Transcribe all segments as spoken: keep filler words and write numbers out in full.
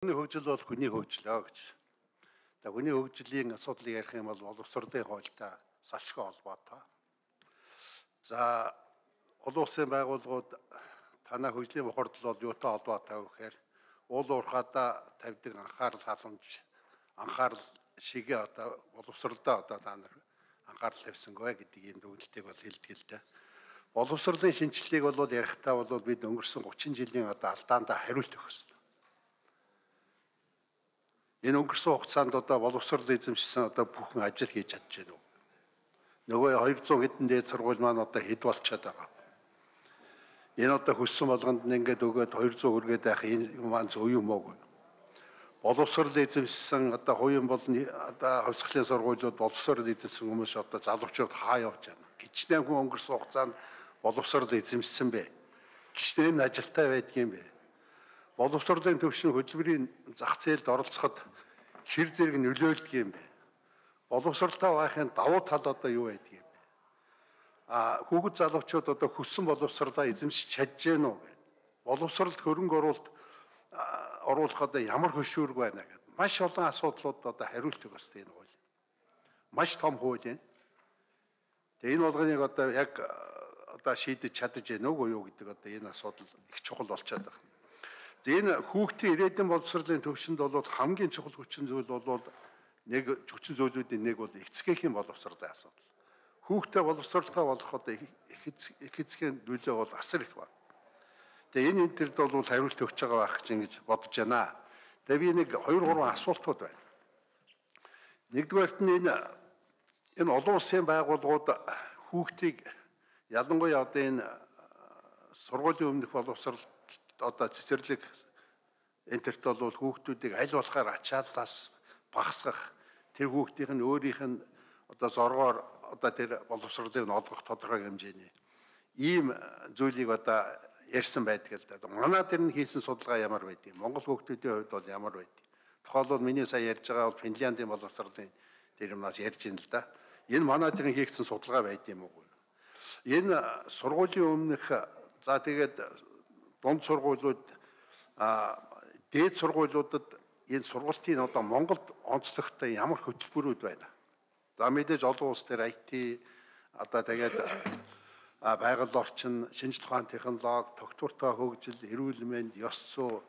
Хүний хөгжил бол хүний хөгжлөө гэж. За хүний хөгжлийн асуудлыг ярих юм бол боловсролын хуультай салшгүй холбоотой. За олон улсын байгууллагууд танай хөгжлийн бохирдол бол юутай холбоотой вэ гэхээр уул уурхаада тавьдаг анхаарал халамж анхаарал шигээ одоо боловсролдоо одоо та нар анхаарал тавьсангүй гэдгийг энэ дүгнэлтийг бол хэлдэг л дээ. Боловсролын шинжилгээг бол ярихдаа бол бид өнгөрсөн гучин жилийн одоо алдаандаа хариулт өгөх ёстой. Энэ өнгөрсөн хугацаанд одоо боловсрол эзэмшсэн одоо бүхэн ажил хийж чадж байна уу? Нөгөө двести хэдэн дээд сургууль маань одоо хэд болчиход байгаа. Энэ одоо хүссэн болгонд нь ингээд өгөөд двести хүргээд байх энэ маань зөв юм уу? Боловсрол эзэмшсэн одоо хувийн болон одоо хувьсгалын сургуулиуд боловсрол эзэмшсэн хүмүүс одоо залуучууд хаа явж байна? Гичнээн хүн өнгөрсөн хугацаанд боловсрол эзэмшсэн бэ? Гичнээн ажилтай байдгийм бэ? Боловсролын төвшин хөтөлбөрийн зах зээлд оролцоход хэр зэрэг нөлөөлдөг юм бэ? Боловсролтой байхын давуу тал одоо юу байдаг юм бэ? А хүүхэд залуучууд одоо хүссэн боловсролоо эзэмшиж чадж гэнэ үү? Боловсролд хөрөнгө оруулалт оруулах одоо ямар хөшүүрэг байна гэдэг. Маш олон асуудлууд одоо хариулт өгөх ёстой энэ хууль. Маш том хууль юм. Тэгээ энэ болгоныг одоо яг одоо шийдэж чадаж гэнэ үгүй юу гэдэг одоо энэ асуудал их чухал болчиход байна. За энэ хүүхдийн ирээдүйн боловсролын төвшөнд бол хамгийн чухал хүчин зүйл бол нэг хүчин зүйлүүдийн нэг бол эцгээхийн боловсролын асуудал. Хүүхдээ боловсролтой болох одоо их эцгийн нөлөө бол асар их байна. Тэгээ энэ энэ төрд бол хариулт өгч байгаа байх гэж ингэж бодож байна. Тэгээ би нэг хоёр гурван асуултууд байна. Нэгдүгээрт нь энэ энэ олон улсын байгууллагууд хүүхдийг ялангуяа одоо энэ сургуулийн өмнөх боловсрол одоо цэцэрлэг энтерт бол хүүхдүүдийг аль болохоор ачааллаас багасгах тэр хүүхдийн нь өөрийнх нь одоо зоргоор одоо тэр боловсролыг нь олгох тодорхой хэмжээний ийм зүйлийг одоо ярьсан байдаг л да. Манай тэр нь хийсэн судалгаа ямар байдгийг, Монгол хүүхдүүдийн хувьд бол ямар байдгийг. Тухайлбал миний сая ярьж байгаа бол Финляндийн боловсролын тэр юмнаас ярьж байна л да. Энэ манай тэр нь хийгдсэн судалгаа байд юм уу? Энэ сургуулийн өмнөх за тэгээд дунд сургуулиуд а дээд сургуулиудад энэ сургалтын одоо Монголд онцлогтой ямар хөтөлбөрүүд байна. За мэдээж олон улс төр ай ти одоо тэгээд байгаль орчин, шинжлэх ухааны технологи, тогтвортой хөгжил, эрүүл мэнд, ёс зүй,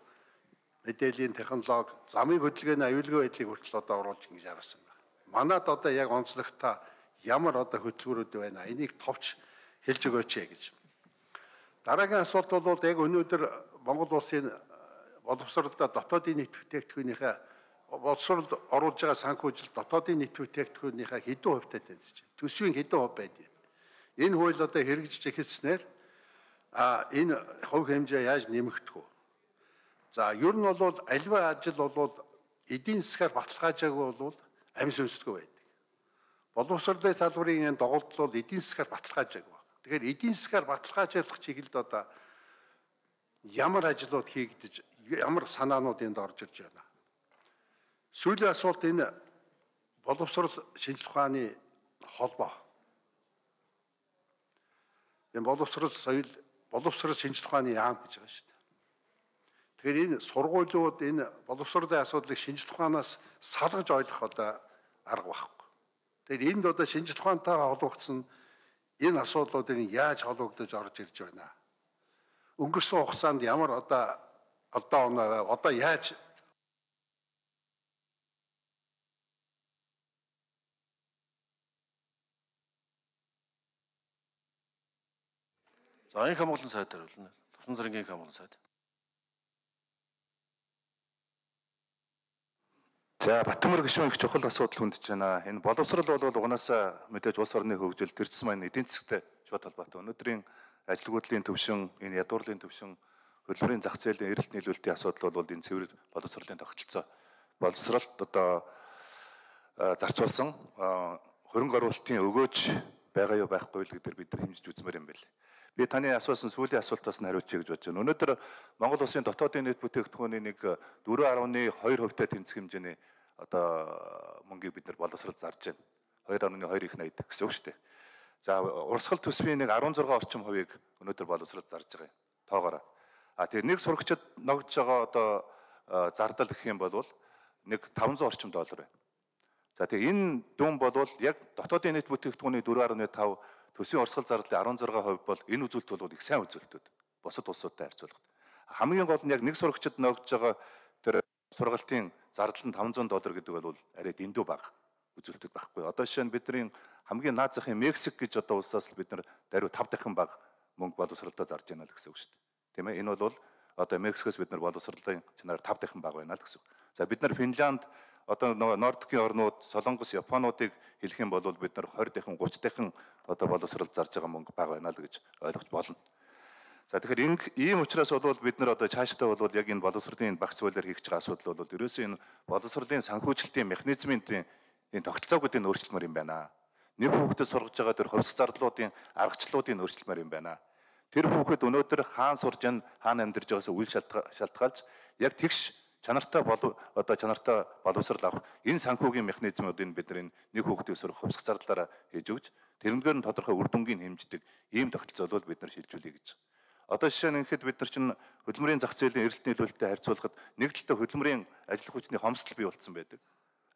мэдээллийн технологи, замын хөдөлгөөний аюулгүй байдлыг хүртэл одоо оруулж ингэж харсан байна. Манад одоо яг онцлогтой ямар одоо хөтөлбөрүүд байна. Энийг товч хэлж өгөөч гэж. Дараагийн асуулт бол яг өнөөдөр Монгол улсын боловсролдоо дотоодын нийт бүтээгдэхүүнийхээ боловсролд оруулж байгаа санхүүжилт дотоодын нийт бүтээгдэхүүнийхээ хэдэн хувьтай тэнцэж байна? Төсвийн хэдэн хувь байдгийг. Энэ хууль одоо хэрэгжиж эхэлснээр а энэ хувь хэмжээ яаж нэмэгдэх вэ? За ер нь бол альва ажил бол эдийн засгаар баталгаажаагүй бол амь сүнсдгүй байдаг. Боловсролын салбарын энэ доголдол бол эдийн засгаар баталгаажаагүй. Тэгэхээр эдийн засгаар баталгаажуулах чиглэлд одоо ямар ажлууд хийгдэж, ямар санаанууд энд орж ирж байна. Сүүлийн асуулт энэ боловсрол шинжлэх ухааны холбоо. Энэ боловсрол соёл, боловсрол шинжлэх ухааны яам гэж байгаа шүү дээ. Тэгэхээр энэ сургуулиуд энэ боловсролын асуудлыг шинжлэх ухаанаас салгаж ойлгох одоо арга байхгүй. Тэгэхээр энд одоо шинжлэх ухаантайгаа холбогдсон энэ асуудлуудыг яаж холбогдож орж ирж байна? Өнгөрсөн хугацаанд ямар одоо одоо оноо одоо яаж За энэ хамгаалалтын сайд хариулна. Тусан цэргийн хамгаалалтын сайд. За Батмөр гишүүн их чухал асуудал хүндэж байна. Энэ боловсрол бол угаасаа мэдээж улс орны хөгжил, төрөлсөн маань эдийн засгтай шууд холбоотой. Өнөөдрийн ажилгүйдлийн төвшин, энэ ядуурлын төвшин, хөдөлмөрийн зах зээлийн эрэлт нийлүүлэлтийн асуудал бол энэ цэвэр боловсролын тогтолцоо. Боловсролд одоо зарцуулсан хөрөнгө оруулалтын өгөөж байгаа юу байхгүй л гэдгээр бид нар хэмжиж үзмээр юм байна. Би таны асуусан сүүлийн асуултаас нь хариулчих гэж бодож байна. Өнөөдөр Монгол улсын дотоодын нийт бүтээгдэхүүний нэг дөрвөн гаруй хоёр хувьтай тэнцэх хэмжээний одоо мөнгийг бид нар боловсрол зарж байна. хоёр гаруй хоёр их найд гэсэн үг шүү дээ. За урсгал төсвийн нэг арван зургаан орчим хувийг өнөөдөр боловсрол зарж байгаа юм. Тоогоороо. А тэгээ нэг сурагчид ногдж байгаа одоо зардал гэх юм бол нэг таван зуун орчим доллар байна. За тэгээ энэ дүн бол яг дотоодын нийт бүтээгдэхүүний дөрвөн гаруй тавь төсвийн урсгал зардлын арван зураг хувь бол энэ үзүүлэлт бол их сайн үзүүлэлтүүд. Бусад улсуудтай харьцуулахад. Хамгийн гол нь яг нэг сурагчид ногдож байгаа тэр сургалтын зардал нь таван зуун доллар гэдэг бол арай дэндүү бага үзүүлэлтүүд байхгүй. Одоо жишээ нь бидний хамгийн наад захын Мексик гэж одоо улсаас л бид нар даруй тав дахин бага мөнгө боловсролтой зарж байна л гэсэн үг шүү дээ. Тийм ээ. Энэ бол одоо Мексикоос бид нар боловсролын чанараар тав дахин бага байна л гэсэн үг. За бид нар Финланд одоо нөгөө Нордикийн орнууд, Солонгос, Японуудыг хэлэх юм бол бид нар двадцать дахин, тридцать дахин одоо боловсрол зарж байгаа мөнгө бага байна л гэж ойлгож болно. За тэгэхээр ийм учраас бол бид нар одоо цаашдаа бол яг энэ боловсролын багц хуулиар хийх байгаа асуудал бол ерөөсөө энэ боловсролын санхүүжилтийн механизмын энэ тогтолцоогуудыг өөрчлөлмөр юм байна. Нэг хүүхдэд сургаж байгаа тэр хувьсах зардлуудын аргачлалуудыг өөрчлөлмөр юм байна. Тэр хүүхэд өнөөдөр хаана сурж байна, хаана амьдарч байгаас үйл шалтгаалж яг тэгш чанартай болов одоо чанартай боловсрал авах энэ санхүүгийн механизмуудыг бид нар нэг хүүхдийг сурах хувьсах зардлаараа хийж өгч тэрнгээр нь тодорхой үр дүнгийн хэмждэг ийм тогтолцоо бол бид нар шилжүүлье гэж. Одоо жишээ нь ихэд бид нар чинь хөдөлмөрийн зах зээлийн эрэлт нийлүүлэлтэд харьцуулахад нэг талдаа хөдөлмөрийн ажиллах хүчний хомсдол бий болцсон байдаг.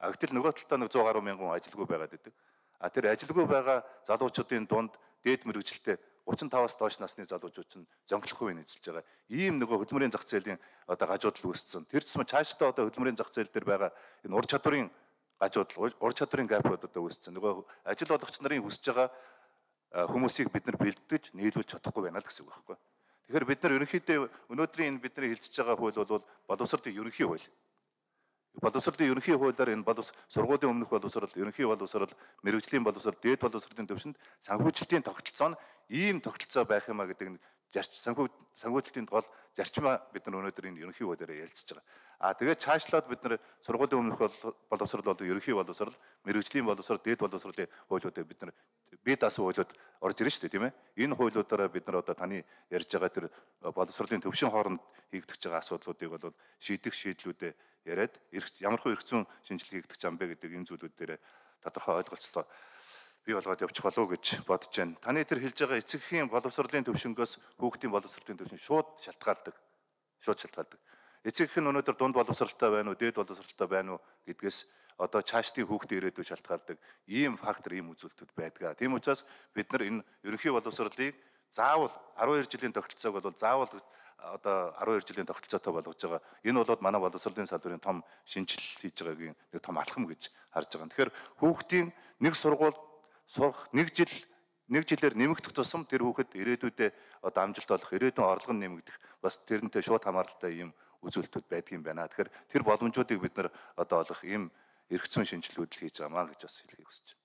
А гэтэл нөгөө талдаа нэг зуун гаруй мянган ажилгүй байгаад байдаг. А тэр ажилгүй байгаа залуучуудын дунд дээд мэрэгжилтэй тридцать таваас доош насны залуучууд чинь зөнгөлөх хувийг эзэлж байгаа. Ийм нөгөө хөдөлмөрийн зах зээлийн одоо гажуудал үүссэн. Тэр ч юм цаашдаа одоо хөдөлмөрийн зах зээл дээр байгаа энэ ур чадварын гажуудал, ур чадварын гапууд одоо үүссэн. Нөгөө ажил олгогч нарын хүсэж байгаа хүмүүсийг бид нар бэлдэж нийлүүлж чадахгүй байна л гэсэн үг байхгүй. Тэгэхээр бид нар ерөнхийдөө өнөөдрийн энэ бидний хэлцэж байгаа хууль бол боловсролын ерөнхий хууль. Боловсролын ерөнхий хуулиар энэ боловс сургуулийн өмнөх боловсрол, ерөнхий боловсрол, мэрэгжлийн боловсрол, дээд боловсролын төвшөнд санхүүжилтийн тогтолцоо нь ийм тогтолцоо байх юмаа гэдэг нь санхүү санхүүжилтийн гол зарчмаа бид нар өнөөдөр энэ ерөнхий хуулиараа ярилцж байгаа. А тэгээд цаашлаад бид нар сургуулийн өмнөх боловсрол бол ерөнхий боловсрол, мэрэгжлийн боловсрол, дээд боловсролын хуулиудыг бид нар бие даасан хуулиуд орж ирнэ шүү дээ, тийм ээ. Энэ хуулиудаараа бид нар одоо таны ярьж байгаа тэр боловсролын төвшин хооронд хийгдэж байгаа асуудлуудыг бол шийдэх шийдлүүдээ яриад ямар хөө эрх зүйн шинжилгээ хийгдэж байгаа юм бэ гэдэг энэ зүйлүүд дээр тодорхой ойлголцоо бий болгоод явчих болов уу гэж бодож байна. Таны тэр хэлж байгаа эцэгхийн боловсролын төвшингөөс хүүхдийн боловсролын төвшин шууд шалтгаалдаг. Шууд шалтгаалдаг. Эцэгх нь өнөөдөр дунд боловсролтой байна уу, дээд боловсролтой байна уу гэдгээс одоо цаашдын хүүхдийн ирээдүй шалтгаалдаг ийм фактор, ийм үзүүлэлтүүд байдаг. Тийм учраас бид нар энэ ерөнхий боловсролыг заавал арван хоёр жилийн тогтолцоог бол заавал одоо арван хоёр жилийн тогтолцоотой болгож байгаа. Энэ бол манай боловсролын салбарын том шинжилэл хийж байгаагийн нэг том алхам гэж харж байгаа. Тэгэхээр хүүхдийн нэг сургууль сурах нэг жил нэг жилээр нэмэгдэх тусам тэр хүүхэд ирээдүйдээ одоо амжилт олох, ирээдүйн орлого нь нэмэгдэх бас тэрнтэй шууд хамааралтай ийм үзүүлэлтүүд байдаг юм байна. Тэгэхээр тэр боломжуудыг бид нар одоо олох ийм эрх зүйн шинжилгүүд л хийж байгаамаа гэж бас хэлхийг хүсэж байна.